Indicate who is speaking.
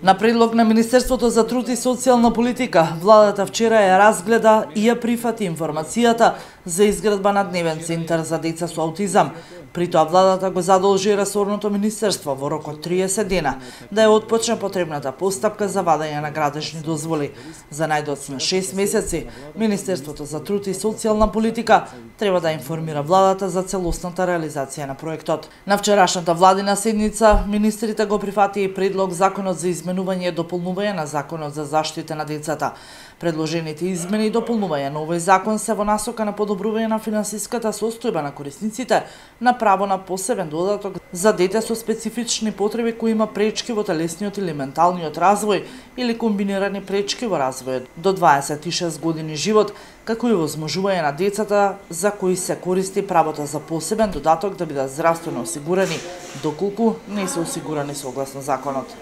Speaker 1: На предлог на Министерството за труд и социјална политика, владата вчера ја разгледа и ја прифати информацијата за изградба на дневен центар за деца со аутизам. При тоа владата го задолжи ресорното министерство во рок од 30 дена да ја отпочне потребната постапка за вадење на градежни дозволи. За најдоцна 6 месеци, Министерството за труд и социјална политика треба да информира владата за целосната реализација на проектот. На вчерашната владина седница, министрите го прифатија и предлог Законот за изменување и дополнување на Законот за заштита на децата. Предложените измени и дополнување на овој закон се во насока на подобрување на финансиската состојба на корисниците на право на посебен додаток за дете со специфични потреби кои има пречки во телесниот или менталниот развој или комбинирани пречки во развојот до 26 години живот, како и возможување на децата за кои се користи правото за посебен додаток да бидат здравствено осигурени, доколку не се осигурани согласно законот.